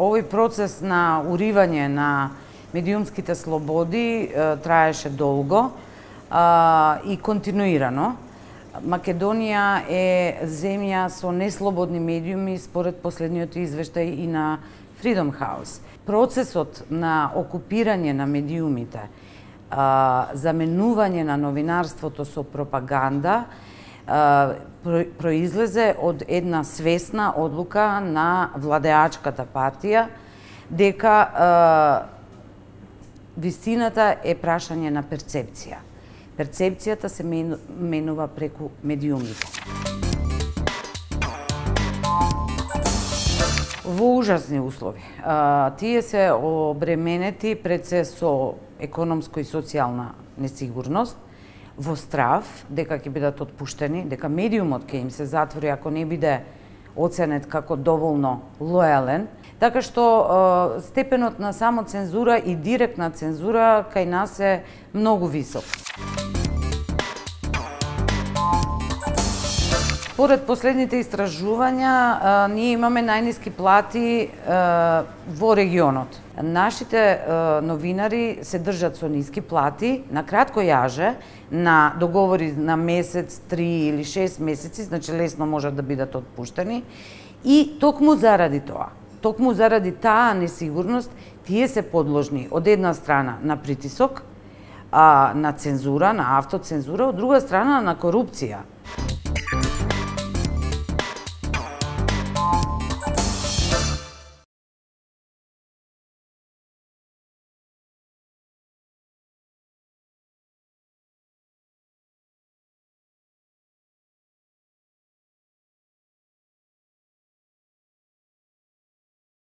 овој процес на уривање на медиумските слободи траеше долго и континуирано. Македонија е земја со неслободни медиуми според последниот извештај и на Freedom House. Процесот на окупирање на медиумите, заменување на новинарството со пропаганда, произлезе од една свесна одлука на владеачката партија дека вистината е прашање на перцепција. Перцепцијата се менува преку медиумите. Во ужасни услови. Тие се обременети пред се со економско и социјална несигурност, во страв дека ќе бидат отпуштени, дека медиумот ќе им се затвори ако не биде оценет како доволно лојален, така што степенот на самоцензура и директна цензура кај нас е многу висок. Според последните истражувања, ние имаме најниски плати во регионот. Нашите новинари се држат со ниски плати, на кратко јаже, на договори на месец, 3 или 6 месеци, значи лесно можат да бидат отпуштени. И токму заради тоа, токму заради таа несигурност, тие се подложни од една страна на притисок, на цензура, на автоцензура, од друга страна на корупција.